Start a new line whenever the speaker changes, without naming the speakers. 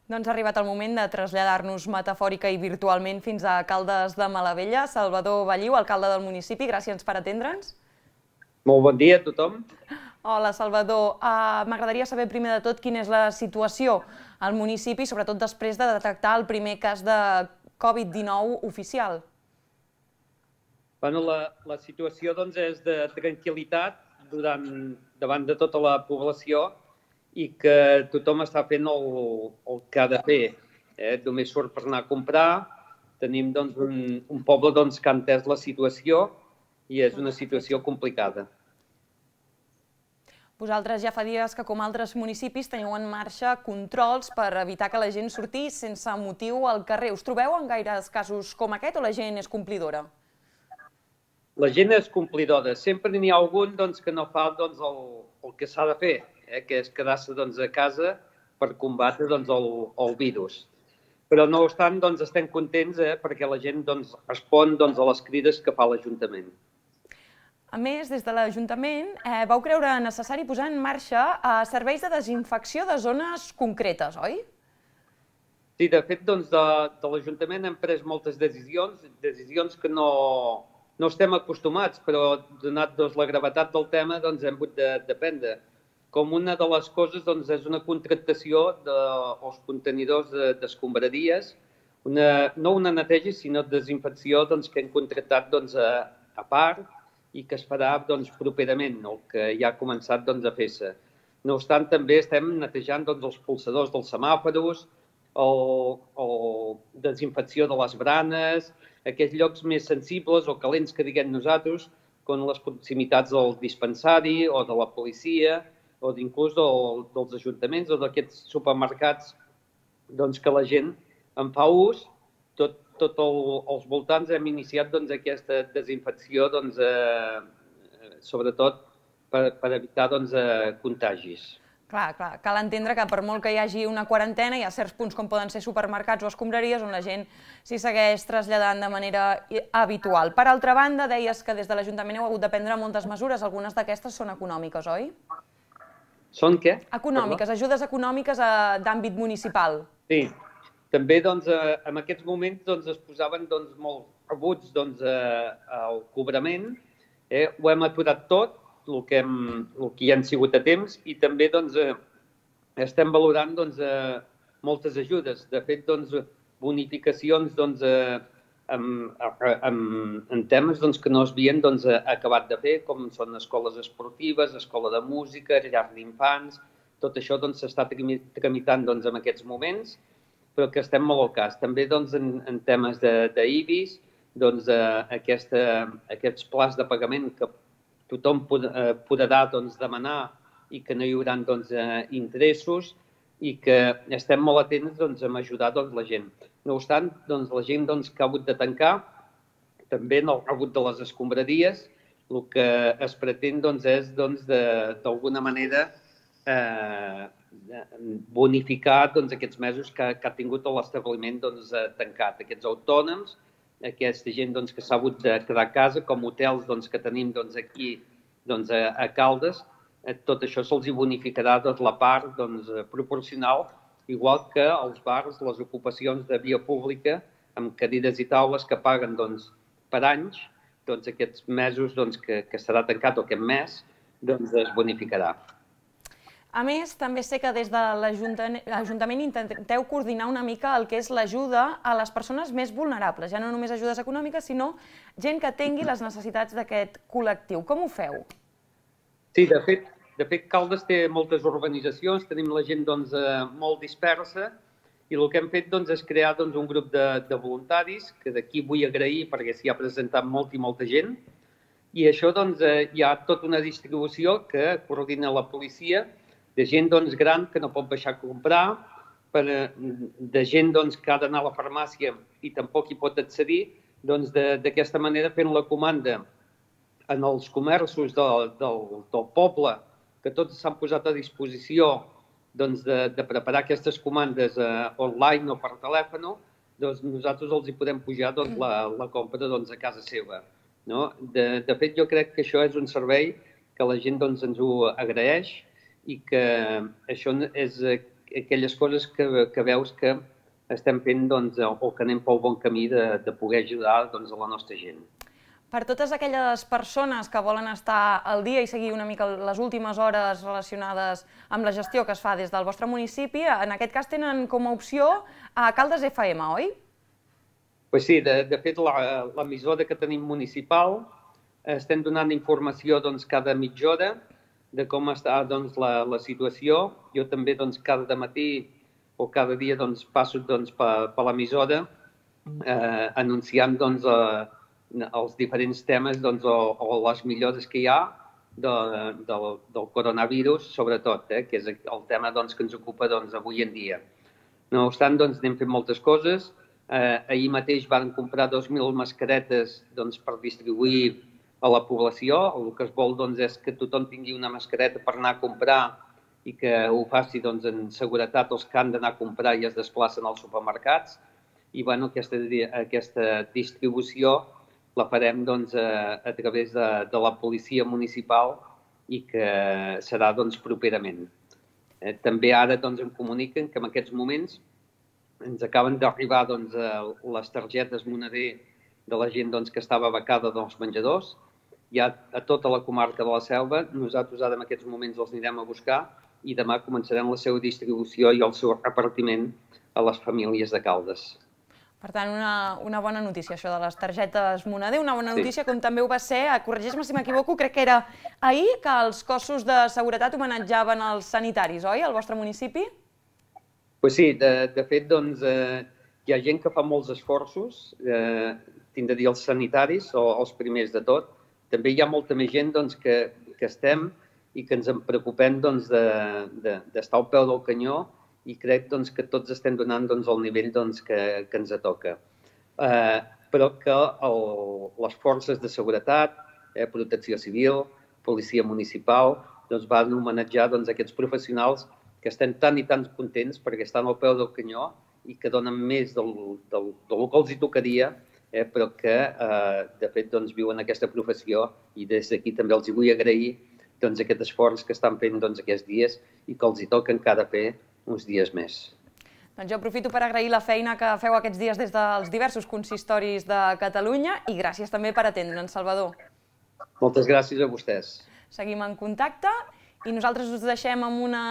Doncs ha arribat el moment de traslladar-nos metafòrica i virtualment fins a Caldes de Malavella. Salvador Balliu, alcalde del municipi, gràcies per atendre'ns.
Molt bon dia a tothom.
Hola, Salvador. M'agradaria saber primer de tot quina és la situació al municipi, sobretot després de detectar el primer cas de Covid-19 oficial.
La situació és de tranquil·litat davant de tota la població i que tothom està fent el que ha de fer. Només surt per anar a comprar. Tenim un poble que ha entès la situació i és una situació complicada.
Vosaltres ja fa dies que, com altres municipis, teniu en marxa controls per evitar que la gent surti sense motiu al carrer. Us trobeu en gaires casos com aquest o la gent és complidora?
La gent és complidora. Sempre n'hi ha algun que no fa el que s'ha de fer, que és quedar-se a casa per combatre el virus. Però no obstant, estem contents perquè la gent respon a les crides que fa l'Ajuntament.
A més, des de l'Ajuntament vau creure necessari posar en marxa serveis de desinfecció de zones concretes, oi?
Sí, de fet, de l'Ajuntament hem pres moltes decisions que no estem acostumats, però donat la gravetat del tema hem hagut de prendre. Com una de les coses és una contractació dels contenidors d'escombraries, no una neteja, sinó desinfecció que hem contractat a part i que es farà properament, el que ja ha començat a fer-se. No obstant, també estem netejant els polsadors dels semàfors, o desinfecció de les branes, aquells llocs més sensibles o calents que diguem nosaltres, com les proximitats del dispensari o de la policia o inclús dels ajuntaments o d'aquests supermercats que la gent en fa ús. Tot als voltants hem iniciat aquesta desinfecció, sobretot per evitar contagis.
Clar, cal entendre que per molt que hi hagi una quarantena, hi ha certs punts com poden ser supermercats o escombraries on la gent s'hi segueix traslladant de manera habitual. Per altra banda, deies que des de l'Ajuntament heu hagut de prendre moltes mesures, algunes d'aquestes són econòmiques, oi?
Són què?
Econòmiques, ajudes econòmiques d'àmbit municipal.
Sí, també en aquests moments es posaven molts rebuts al cobrament, ho hem aturat tot, el que hi han sigut a temps, i també estem valorant moltes ajudes. De fet, bonificacions en temes que no s'havien acabat de fer, com són escoles esportives, escola de música, llars d'infants. Tot això s'està tramitant en aquests moments, però que estem molt al cas. També en temes d'IBIS, aquests plans de pagament que tothom podrà demanar i que no hi haurà interessos i que estem molt atents a ajudar la gent. No obstant, la gent que ha hagut de tancar, també en el rebut de les escombraries, el que es pretén és d'alguna manera bonificar aquests mesos que ha tingut l'establiment tancat. Aquests autònoms, aquesta gent que s'ha hagut de quedar a casa, com hotels que tenim aquí a Caldes, tot això se'ls bonificarà la part proporcional, igual que els bars, les ocupacions de via pública, amb cadires i taules que paguen per anys, aquests mesos que serà tancat o aquest mes, es bonificarà.
A més, també sé que des de l'Ajuntament intenteu coordinar una mica el que és l'ajuda a les persones més vulnerables, ja no només ajudes econòmiques, sinó gent que tingui les necessitats d'aquest col·lectiu. Com ho feu?
Sí, de fet, Caldes té moltes organitzacions, tenim la gent molt dispersa, i el que hem fet és crear un grup de voluntaris, que d'aquí vull agrair perquè s'hi ha presentat molta gent, i això hi ha tota una distribució que coordina la policia, de gent gran que no pot baixar a comprar, de gent que ha d'anar a la farmàcia i tampoc hi pot accedir, d'aquesta manera fent la comanda en els comerços del poble, que tots s'han posat a disposició de preparar aquestes comandes online o per telèfon, nosaltres els hi podem pujar la compra a casa seva. De fet, jo crec que això és un servei que la gent ens ho agraeix i que això és aquelles coses que veus que estem fent o que anem pel bon camí de poder ajudar a la nostra gent.
Per totes aquelles persones que volen estar al dia i seguir una mica les últimes hores relacionades amb la gestió que es fa des del vostre municipi, en aquest cas tenen com a opció a Caldes FM, oi?
Pues sí, de fet, l'emissora que tenim municipal estem donant informació cada mitja hora de com està la situació. Jo també cada matí o cada dia passo per l'emissora anunciant els diferents temes o les millores que hi ha del coronavirus, sobretot, que és el tema que ens ocupa avui en dia. No obstant, anem fent moltes coses. Ahir mateix van comprar 2.000 mascaretes per distribuir a la població. El que es vol és que tothom tingui una mascareta per anar a comprar i que ho faci en seguretat els que han d'anar a comprar i es desplacen als supermercats. I aquesta distribució la farem a través de la policia municipal i que serà properament. També ara em comuniquen que en aquests moments ens acaben d'arribar les targetes moneder de la gent que estava becada dels menjadors. Ja a tota la comarca de la Selva, nosaltres ara en aquests moments els anirem a buscar i demà començarem la seva distribució i el seu repartiment a les famílies de Caldes.
Per tant, una bona notícia, això de les targetes moneder, una bona notícia, com també ho va ser, corregeix-me si m'equivoco, crec que era ahir que els cossos de seguretat homenatjaven els sanitaris, oi, al vostre municipi?
Pues sí, de fet, hi ha gent que fa molts esforços, tinc de dir els sanitaris, o els primers de tot. També hi ha molta més gent que estem i que ens en preocupem d'estar al peu del canyó i crec que tots estem donant el nivell que ens toca. Però que les forces de seguretat, protecció civil, policia municipal, van homenatjar aquests professionals que estem tan i tan contents perquè estan al peu del canyó i que donen més del que els tocaria, però que, de fet, viuen aquesta professió i des d'aquí també els vull agrair aquest esforç que estan fent aquests dies i que els toca encara fer uns dies més.
Doncs jo aprofito per agrair la feina que feu aquests dies des dels diversos consistoris de Catalunya i gràcies també per atendre'ns, Salvador.
Moltes gràcies a vostès.
Seguim en contacte i nosaltres us deixem amb una